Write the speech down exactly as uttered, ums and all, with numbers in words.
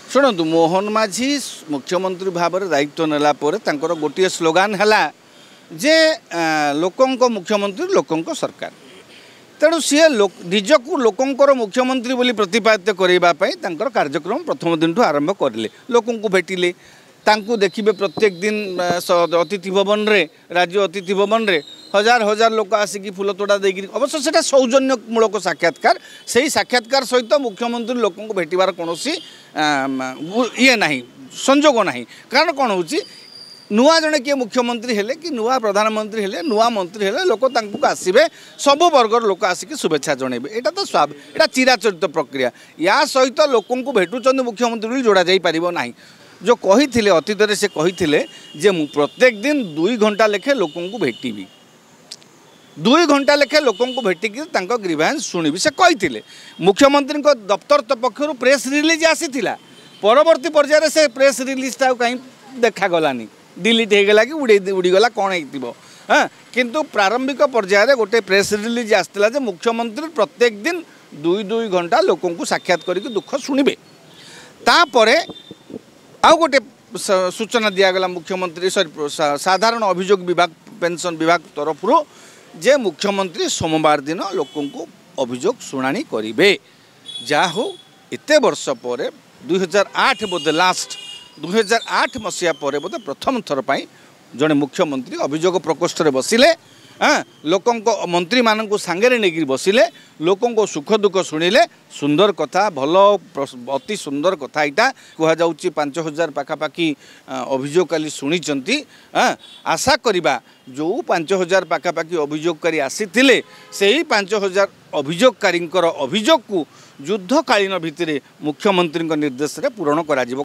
ଶୁଣନ୍ତୁ, ମୋହନ ମାଝୀ ମୁଖ୍ୟମନ୍ତ୍ରୀ ଭାବରେ ଦାୟିତ୍ୱ ନେଲା ପରେ ତାଙ୍କର ଗୋଟିଏ ସ୍ଲୋଗାନ ହେଲା ଯେ ଲୋକଙ୍କ ମୁଖ୍ୟମନ୍ତ୍ରୀ, ଲୋକଙ୍କ ସରକାର। ତେଣୁ ସିଏ ନିଜକୁ ଲୋକଙ୍କର ମୁଖ୍ୟମନ୍ତ୍ରୀ ବୋଲି ପ୍ରତିପାଦିତ କରାଇବା ପାଇଁ ତାଙ୍କର କାର୍ଯ୍ୟକ୍ରମ ପ୍ରଥମ ଦିନଠୁ ଆରମ୍ଭ କରିଲେ। ଲୋକଙ୍କୁ ଭେଟିଲେ, ତାଙ୍କୁ ଦେଖିବେ ପ୍ରତ୍ୟେକ ଦିନ ଅତିଥି ଭବନରେ, ରାଜ୍ୟ ଅତିଥି ଭବନରେ ହଜାର ହଜାର ଲୋକ ଆସିକି ଫୁଲ ତୋଡ଼ା ଦେଇକିରି। ଅବଶ୍ୟ ସେଇଟା ସୌଜନ୍ୟମୂଳକ ସାକ୍ଷାତକାର। ସେଇ ସାକ୍ଷାତକାର ସହିତ ମୁଖ୍ୟମନ୍ତ୍ରୀ ଲୋକଙ୍କୁ ଭେଟିବାର କୌଣସି ଇଏ ନାହିଁ, ସଂଯୋଗ ନାହିଁ। କାରଣ କ'ଣ ହେଉଛି, ନୂଆ ଜଣେ କିଏ ମୁଖ୍ୟମନ୍ତ୍ରୀ ହେଲେ କି ନୂଆ ପ୍ରଧାନମନ୍ତ୍ରୀ ହେଲେ, ନୂଆ ମନ୍ତ୍ରୀ ହେଲେ, ଲୋକ ତାଙ୍କୁ ଆସିବେ, ସବୁ ବର୍ଗର ଲୋକ ଆସିକି ଶୁଭେଚ୍ଛା ଜଣାଇବେ। ଏଇଟା ତ ଏଇଟା ଚିରାଚରିତ ପ୍ରକ୍ରିୟା। ୟା ସହିତ ଲୋକଙ୍କୁ ଭେଟୁଛନ୍ତି ମୁଖ୍ୟମନ୍ତ୍ରୀ ବୋଲି ଯୋଡ଼ା ଯାଇପାରିବ ନାହିଁ। ଯେଉଁ କହିଥିଲେ ଅତୀତରେ, ସେ କହିଥିଲେ ଯେ ମୁଁ ପ୍ରତ୍ୟେକ ଦିନ ଦୁଇ ଘଣ୍ଟା ଲେଖେ ଲୋକଙ୍କୁ ଭେଟିବି, ଦୁଇ ଘଣ୍ଟା ଲେଖେ ଲୋକଙ୍କୁ ଭେଟିକି ତାଙ୍କ ଗ୍ରିଭାନ୍ସ ଶୁଣିବି, ସେ କହିଥିଲେ। ମୁଖ୍ୟମନ୍ତ୍ରୀଙ୍କ ଦପ୍ତର ପକ୍ଷରୁ ପ୍ରେସ୍ ରିଲିଜ୍ ଆସିଥିଲା। ପରବର୍ତ୍ତୀ ପର୍ଯ୍ୟାୟରେ ସେ ପ୍ରେସ୍ ରିଲିଜ୍ଟା ଆଉ କାହିଁ ଦେଖାଗଲାନି, ଡିଲିଟ୍ ହେଇଗଲା କି ଉଡ଼େଇ ଉଡ଼ିଗଲା, କ'ଣ ହେଇଥିବ। ହଁ, କିନ୍ତୁ ପ୍ରାରମ୍ଭିକ ପର୍ଯ୍ୟାୟରେ ଗୋଟେ ପ୍ରେସ୍ ରିଲିଜ୍ ଆସିଥିଲା ଯେ ମୁଖ୍ୟମନ୍ତ୍ରୀ ପ୍ରତ୍ୟେକ ଦିନ ଦୁଇ ଦୁଇ ଘଣ୍ଟା ଲୋକଙ୍କୁ ସାକ୍ଷାତ କରିକି ଦୁଃଖ ଶୁଣିବେ। ତାପରେ ଆଉ ଗୋଟେ ସୂଚନା ଦିଆଗଲା ମୁଖ୍ୟମନ୍ତ୍ରୀ, ସରି, ସାଧାରଣ ଅଭିଯୋଗ ବିଭାଗ, ପେନ୍ସନ୍ ବିଭାଗ ତରଫରୁ ଯେ ମୁଖ୍ୟମନ୍ତ୍ରୀ ସୋମବାର ଦିନ ଲୋକଙ୍କୁ ଅଭିଯୋଗ ଶୁଣାଣି କରିବେ। ଯାହା ହଉ, ଏତେ ବର୍ଷ ପରେ, ଦୁଇ ହଜାର ଆଠ ବୋଧେ ଲାଷ୍ଟ, ଦୁଇ ହଜାର ଆଠ ମସିହା ପରେ ବୋଧେ ପ୍ରଥମ ଥର ପାଇଁ ଜଣେ ମୁଖ୍ୟମନ୍ତ୍ରୀ ଅଭିଯୋଗ ପ୍ରକୋଷ୍ଠରେ ବସିଲେ, ହଁ, ଲୋକଙ୍କ ମନ୍ତ୍ରୀମାନଙ୍କୁ ସାଙ୍ଗରେ ନେଇକରି ବସିଲେ, ଲୋକଙ୍କ ସୁଖ ଦୁଃଖ ଶୁଣିଲେ। ସୁନ୍ଦର କଥା, ଭଲ, ଅତି ସୁନ୍ଦର କଥା ଏଇଟା। କୁହାଯାଉଛି ପାଞ୍ଚ ହଜାର ପାଖାପାଖି ଅଭିଯୋଗ କାଲି ଶୁଣିଛନ୍ତି। ଆଶା କରିବା ଯେଉଁ ପାଞ୍ଚ ହଜାର ପାଖାପାଖି ଅଭିଯୋଗକାରୀ ଆସିଥିଲେ, ସେଇ ପାଞ୍ଚ ହଜାର ଅଭିଯୋଗକାରୀଙ୍କର ଅଭିଯୋଗକୁ ଯୁଦ୍ଧକାଳୀନ ଭିତ୍ତିରେ ମୁଖ୍ୟମନ୍ତ୍ରୀଙ୍କ ନିର୍ଦ୍ଦେଶରେ ପୂରଣ କରାଯିବ।